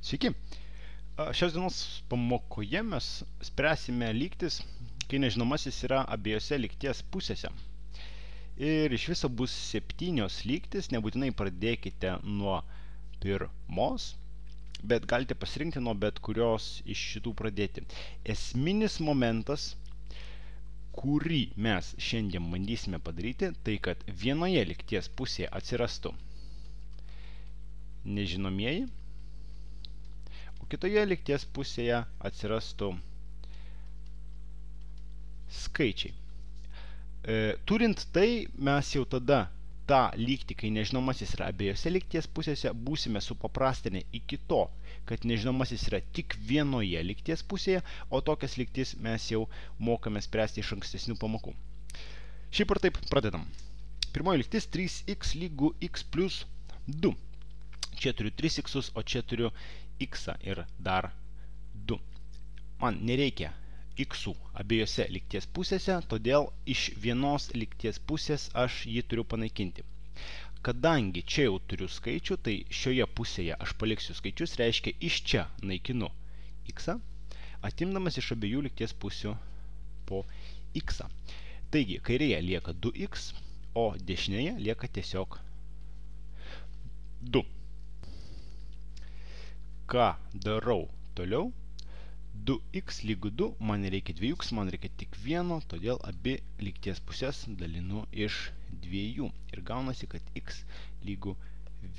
Sveiki. Šios dienos pamokoje mes spręsime lygtis, kai nežinomasis yra abiejose lygties pusėse. Ir iš viso bus 7 lygtis, nebūtinai pradėkite nuo pirmos, bet galite pasirinkti nuo bet kurios iš šitų pradėti. Esminis momentas, kurį mes šiandien bandysime padaryti, tai kad vienoje lygties pusėje atsirastų nežinomieji, kitoje lygties pusėje atsirastų skaičiai. Turint tai, mes jau tada tą lygtį, kai nežinomasis yra abiejose lygties pusėse, būsime supaprastinę iki to, kad nežinomasis yra tik vienoje lygties pusėje, o tokias lygtis mes jau mokame spręsti iš ankstesnių pamokų. Šiaip ar taip, pradedam. Pirmoji lygtis 3x lygu x plus 2. Čia turiu 3x, o čia turiu x ir dar 2. Man nereikia x abiejose lygties pusėse, todėl iš vienos lygties pusės aš jį turiu panaikinti. Kadangi čia jau turiu skaičių, tai šioje pusėje aš paliksiu skaičius, reiškia iš čia naikinu x, atimdamas iš abiejų lygties pusių po x. Taigi, kairėje lieka 2x, o dešinėje lieka tiesiog 2. Ką darau toliau? 2x lygu 2, man reikia 2x, man reikia tik 1, todėl abi lygties pusės dalinu iš 2 ir gaunasi, kad x lygu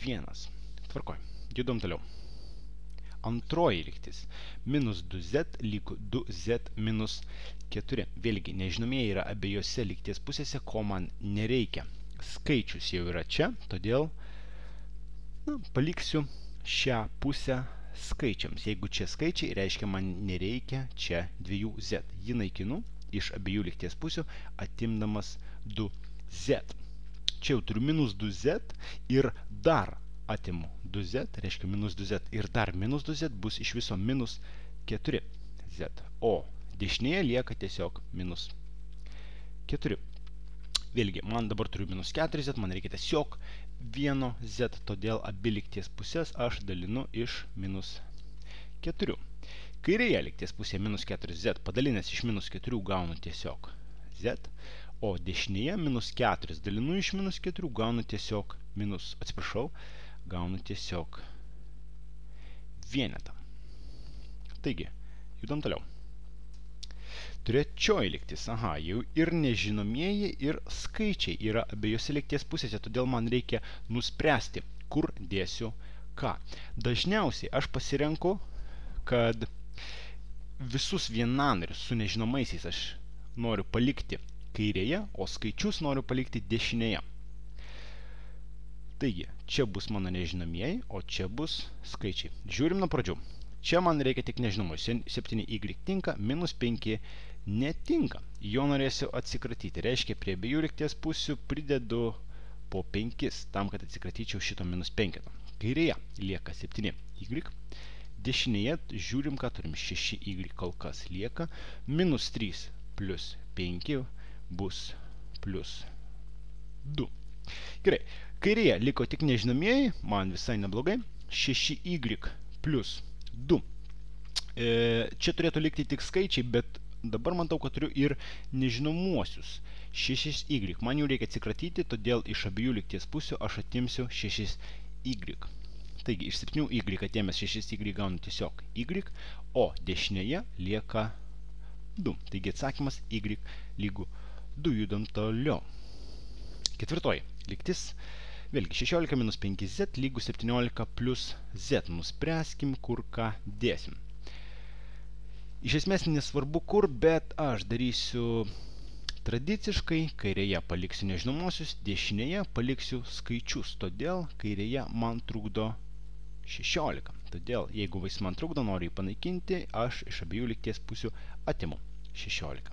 1. Tvarkoj, judom toliau. Antroji lygtis. Minus 2z lygu 2z minus 4. Vėlgi, nežinomieji yra abiejose lygties pusėse, ko man nereikia. Skaičius jau yra čia, todėl paliksiu šią pusę skaičiams. Jeigu čia skaičiai, reiškia man nereikia čia 2z. Jį naikinu iš abiejų lygties pusių, atimdamas 2z. Čia jau turiu minus 2z ir dar atimu 2z, reiškia minus 2z ir dar minus 2z bus iš viso minus 4z. O dešinėje lieka tiesiog minus 4. Vėlgi, man dabar turiu minus 4z, man reikia tiesiog 1z, todėl abi lygties pusės aš dalinu iš minus 4. Kairėje lygties pusėje minus 4z, padalinęs iš minus 4 gaunu tiesiog z, o dešinėje minus 4 dalinu iš minus 4 gaunu tiesiog gaunu tiesiog vienetą. Taigi, judam toliau. Trečioji lygtis. Jau ir nežinomieji, ir skaičiai yra abiejose lygties pusėse, todėl man reikia nuspręsti, kur dėsiu ką. Dažniausiai aš pasirenku, kad visus vienanarius su nežinomaisiais aš noriu palikti kairėje, o skaičius noriu palikti dešinėje. Taigi, čia bus mano nežinomieji, o čia bus skaičiai. Žiūrim nuo pradžių. Čia man reikia tik nežinomų. 7y tinka, minus 5 netinka. Jo norėsiu atsikratyti. Reiškia, prie abiejų lygties pusių pridedu po 5, tam, kad atsikratyčiau šito minus 5. Kairėje lieka 7y. Dešinėje žiūrim, ką turim. 6y kol kas lieka. Minus 3 plus 5 bus plus 2. Gerai. Kairėje liko tik nežinomieji, man visai neblogai. 6y plus 2. Čia turėtų likti tik skaičiai, bet dabar matau, kad turiu ir nežinomuosius. 6y. Man jau reikia atsikratyti, todėl iš abiejų lygties pusių aš atimsiu 6y. Taigi, iš 7y atėmęs 6y gaunu tiesiog y, o dešinėje lieka 2. Taigi, atsakymas y lygu 2. Judam toliau. Ketvirtoji lygtis. Vėlgi, 16 minus 5z lygu 17 plus z. Nuspręskim, kur ką dėsim. Iš esmės nesvarbu kur, bet aš darysiu tradiciškai. Kairėje paliksiu nežinomosius, dešinėje paliksiu skaičius. Todėl kairėje man trukdo 16. Todėl, jeigu jis man trukdo, noriu jį panaikinti, aš iš abiejų lygties pusių atimu 16.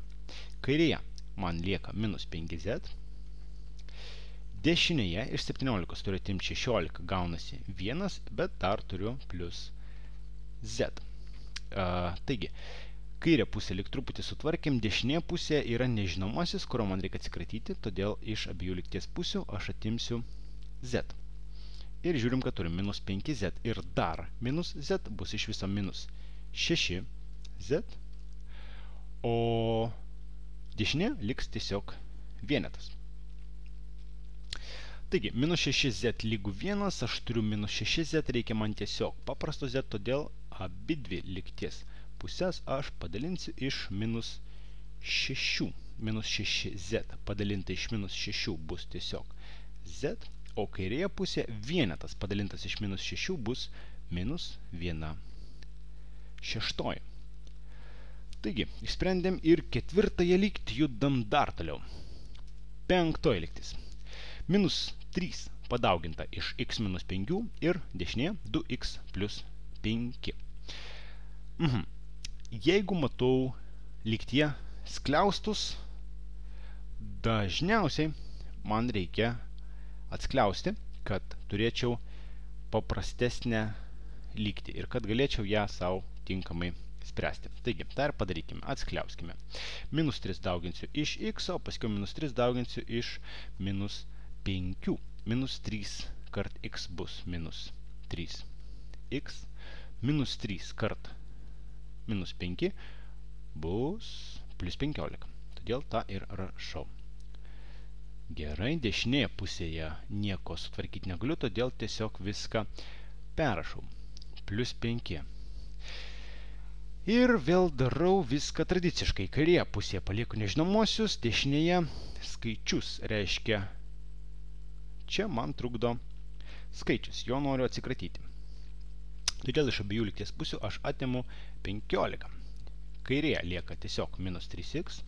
Kairėje man lieka minus 5z. Dešinėje iš 17 turiu atimti 16, gaunasi 1, bet dar turiu plus z. Taigi, kairę pusę lyg truputį sutvarkėm, dešinė pusė yra nežinomasis, kurio man reikia atsikratyti, todėl iš abiejų lygties pusių aš atimsiu z. Ir žiūrim, kad turim minus 5z ir dar minus z bus iš viso minus 6z, o dešinė liks tiesiog vienetas. Taigi, minus 6z lygų 1, aš turiu minus 6z, reikia man tiesiog paprasto z, todėl abi dvi lygties pusės aš padalinsiu iš minus 6. Minus 6z padalinta iš minus 6 bus tiesiog z, o kairėje pusė vienetas padalintas iš minus 6 bus minus 1/6. Taigi, išsprendėm ir ketvirtąją lygtį, judam dar toliau. Penktoji lygtis. Minus 3 padauginta iš x minus 5 ir dešinėje 2x plus 5. Jeigu matau lygtyje skliaustus, dažniausiai man reikia atskliausti, kad turėčiau paprastesnę lygtį ir kad galėčiau ją savo tinkamai spręsti. Taigi, tą ir padarykime. Atskliauskime. Minus 3 dauginsiu iš x, o paskiau minus 3 dauginsiu iš minus 5. Minus 3 kart x bus minus 3x. Minus 3 kart minus 5 bus plus 15. Todėl tą ir rašau. Gerai, dešinėje pusėje nieko sutvarkyti negaliu, todėl tiesiog viską perrašau. Plus 5. Ir vėl darau viską tradiciškai. Kairėje pusėje palieku nežinomosius, dešinėje skaičius, reiškia čia man trukdo skaičius, jo noriu atsikratyti. Todėl iš abiejų lygties pusių aš atimu 15. Kairėje lieka tiesiog minus 3x,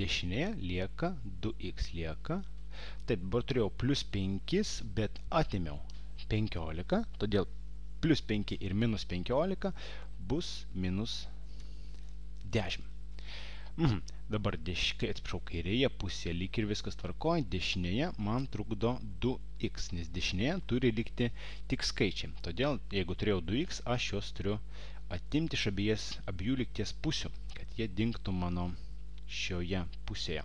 dešinėje lieka 2x lieka. Taip, dabar turėjau plus 5, bet atimiau 15, todėl plus 5 ir minus 15 bus minus 10. Dabar atsiprašau, kairėje pusėje lyg ir viskas tvarkoja, dešinėje man trukdo 2x, nes dešinėje turi likti tik skaičiai. Todėl, jeigu turėjau 2x, aš juos turiu atimti iš abiejų lygties pusių, kad jie dingtų mano šioje pusėje.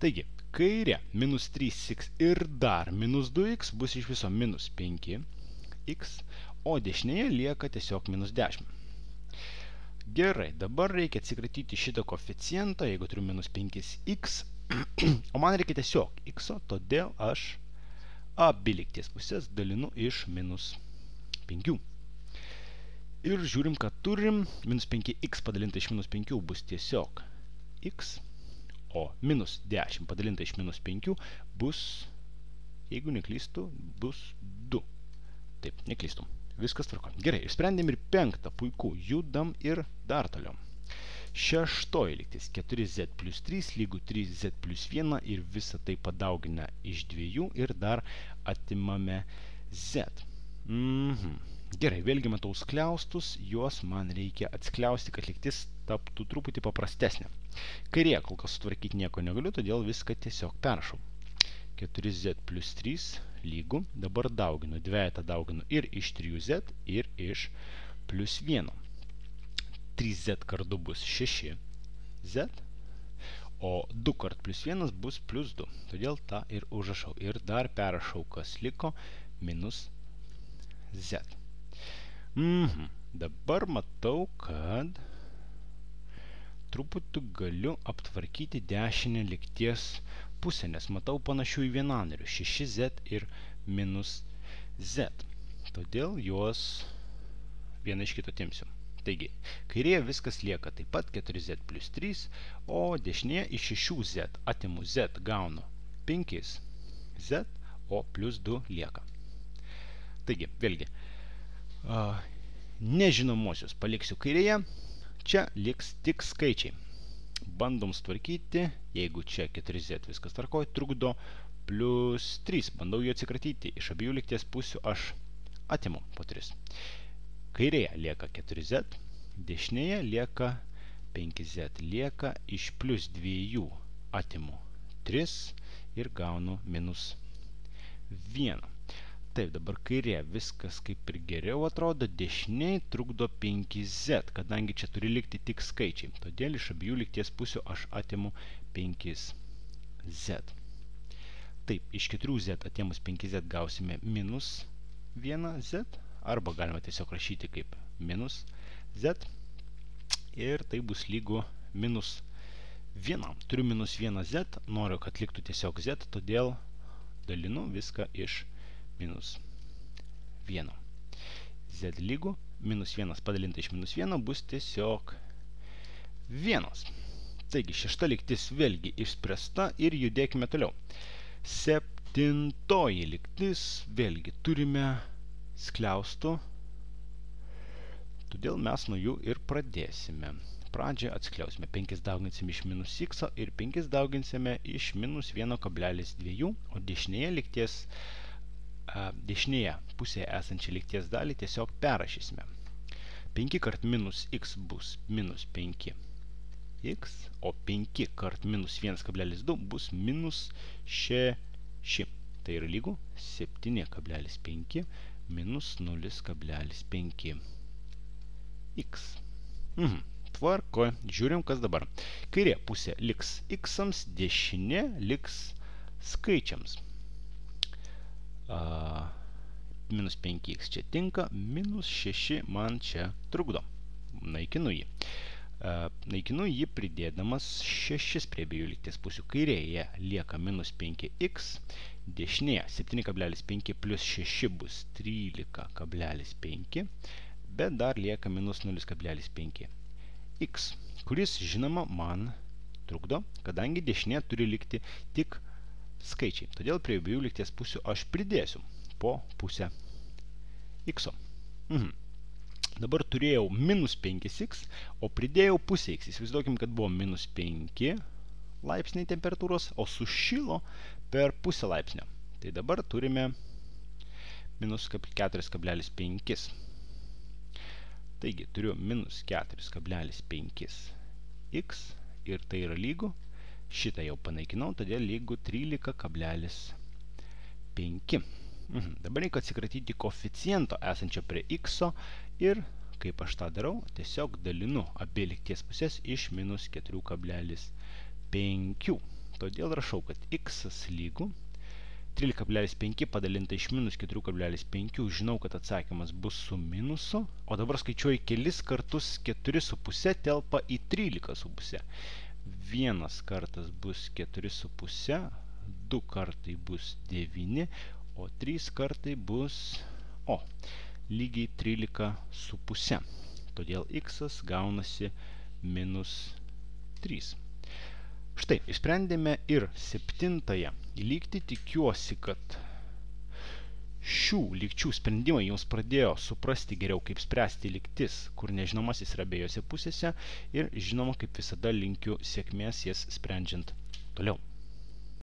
Taigi, kairė minus 3x ir dar minus 2x bus iš viso minus 5x, o dešinėje lieka tiesiog minus 10. Gerai, dabar reikia atsikratyti šitą koeficientą, jeigu turiu minus 5x, o man reikia tiesiog x, todėl aš abi lygties pusės dalinu iš minus 5. Ir žiūrim, kad turim minus 5x padalinta iš minus 5 bus tiesiog x, o minus 10 padalinta iš minus 5 bus, jeigu neklystu, bus 2. Taip, neklystu. Viskas tvarko. Gerai, išsprendėm ir penktą, puiku, judam ir dar toliau. Šeštoji lygtis, 4z plus 3 lygų 3z plus 1 ir visą tai padauginę iš 2 ir dar atimame z. Gerai, vėlgi matau skliaustus, juos man reikia atskliausti, kad lygtis taptų truputį paprastesnė. Kairėje kol kas sutvarkyti nieko negaliu, todėl viską tiesiog perrašau. 4z plus 3 lygų, dabar dauginu, dvejetą dauginu ir iš 3z ir iš plus 1. 3z kart 2 bus 6z, o 2 kart plus 1 bus plus 2. Todėl tą ir užrašau. Ir dar perrašau, kas liko, minus z. Dabar matau, kad truputį galiu aptvarkyti dešinę lygties pusę, nes matau panašių į vienanarių 6z ir minus z. Todėl juos vieną iš kito atimsiu. Taigi, kairėje viskas lieka taip pat 4z plus 3, o dešinėje iš 6z atimu z, gaunu 5z, o plus 2 lieka. Taigi, vėlgi, nežinomosius paliksiu kairėje, čia liks tik skaičiai. Bandom sutvarkyti, jeigu čia 4z viskas tvarkoja, trukdo plus 3. Bandau jų atsikratyti. Iš abiejų lygties pusių aš atimu po 3. Kairėje lieka 4z, dešinėje lieka 5z, lieka iš plus 2 atimu 3 ir gaunu minus 1. Taip, dabar kairė viskas kaip ir geriau atrodo, dešiniai trukdo 5z, kadangi čia turi likti tik skaičiai. Todėl iš abiejų lygties pusių aš atimu 5z. Taip, iš 4z atėmus 5z gausime minus 1z, arba galima tiesiog rašyti kaip minus z, ir tai bus lygu minus 1. Turiu minus 1z, noriu, kad liktų tiesiog z, todėl dalinu viską iš minus 1. Z lygu minus 1 padalinta iš minus 1 bus tiesiog 1. Taigi, šešta lygtis vėlgi išspręsta ir judėkime toliau. Septintoji lygtis vėlgi turime skliaustų, todėl mes nuo jų ir pradėsime. Pradžią atskliausime. 5 dauginsime iš minus x ir 5 dauginsime iš minus 1,2, o dešinėje pusėje esančią lygties dalį tiesiog perrašysime. 5 kart minus x bus minus 5x, o 5 kart minus 1,2 bus minus 6. Tai yra lygu 7,5 minus 0,5x. Tvarko, žiūrim, kas dabar. Kairė pusė liks x-ams, dešinė liks skaičiams. Minus 5x čia tinka, minus 6 man čia trukdo. Naikinu jį. Naikinu jį pridėdamas 6 prie abiejų lygties pusių. Kairėje lieka minus 5x, dešinėje 7,5 plus 6 bus 13,5, bet dar lieka minus 0,5x, kuris, žinoma, man trukdo, kadangi dešinė turi likti tik skaičiai. Todėl prie abiejų lygties pusių aš pridėsiu po pusę x. Dabar turėjau minus 5x, o pridėjau pusę x. Įsivaizduokim, kad buvo minus 5 laipsniai temperatūros, o sušilo per pusę laipsnio. Tai dabar turime minus 4,5. Taigi, turiu minus 4,5x ir tai yra lygu, šitą jau panaikinau, todėl lygu 13,5. Dabar reikia atsikratyti koeficiento esančio prie x ir, kaip aš tą darau, tiesiog dalinu abi lygties pusės iš minus 4,5. Todėl rašau, kad x lygu 13,5 padalinta iš minus 4,5, žinau, kad atsakymas bus su minusu, o dabar skaičiuoju kelis kartus 4,5 telpa į 13,5. Vienas kartas bus 4,5, 2 kartai bus 9, o 3 kartai bus, lygiai 13,5. Todėl x gaunasi minus 3. Štai, išsprendėme ir septintąją lygtį. Tikiuosi, kad šių lygčių sprendimai jums pradėjo suprasti geriau, kaip spręsti lygtis, kur nežinomasis yra abiejose pusėse, ir žinoma, kaip visada linkiu sėkmės jas sprendžiant toliau.